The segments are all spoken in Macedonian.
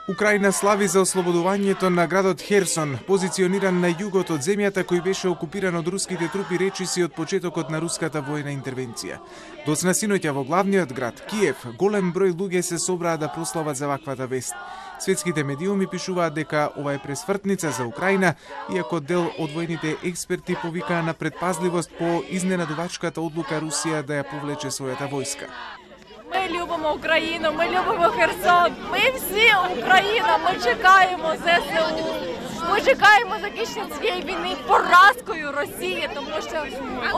Украина слави за ослободувањето на градот Херсон, позициониран на југот од земјата кој беше окупиран од руските трупи речиси од почетокот на руската војна интервенција. Доцна синоќа во главниот град, Киев, голем број луѓе се собраа да прослават за ваквата вест. Светските медиуми пишуваат дека ова е пресвртница за Украина, иако дел од војните експерти повикаа на предпазливост по изненадувачката одлука Русија да ја повлече својата војска. Ми любимо Україну, ми любимо Херсон, ми всі Україна, ми чекаємо ЗСУ, ми чекаємо закінчення цієї війни поразкою Росії, тому що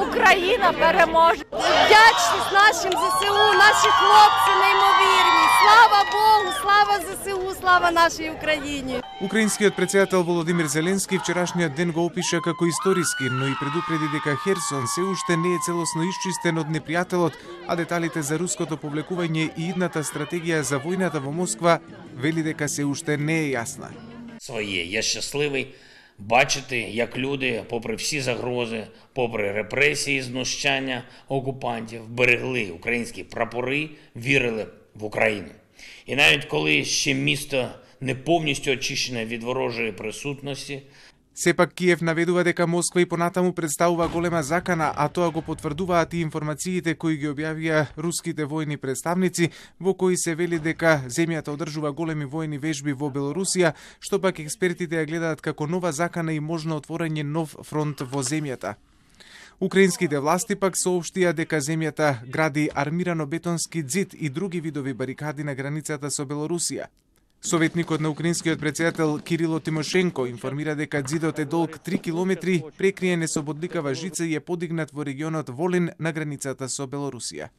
Україна переможе. Вдячність нашим ЗСУ, наші хлопці неймовірні. Слава Богу, слава ЗСУ, слава нашій Україні. Украинскиот председател Володимир Зеленски вчерашниот ден го опиша како историски, но и предупреди дека Херсон се уште не е целосно исчистен од непријателот, а деталите за руското повлекување и идната стратегија за војната во Москва вели дека се уште не е јасна. Я щасливий бачити, як люди, попри всі загрози, попри репресії, знущання окупантів, берегли українські прапори, вірили в Україну. І навіть коли ще місто не повністю очищене від ворожої присутності, Сепак Киев наведува дека Москва и понатаму представува голема закана, а тоа го потврдуваат и информациите кои ги објавија руските војни представници, во кои се вели дека земјата одржува големи војни вежби во Белорусија, што пак експертите ја гледаат како нова закана и можно отворање нов фронт во земјата. Украинските власти пак соопштија дека земјата гради армирано бетонски ѕид и други видови барикади на границата со Белорусија. Советникот на украинскиот председател Кирило Тимошенко информира дека ѕидот е долг 3 километри, прекриен е со бодликава жица и е подигнат во регионот Волин на границата со Белорусија.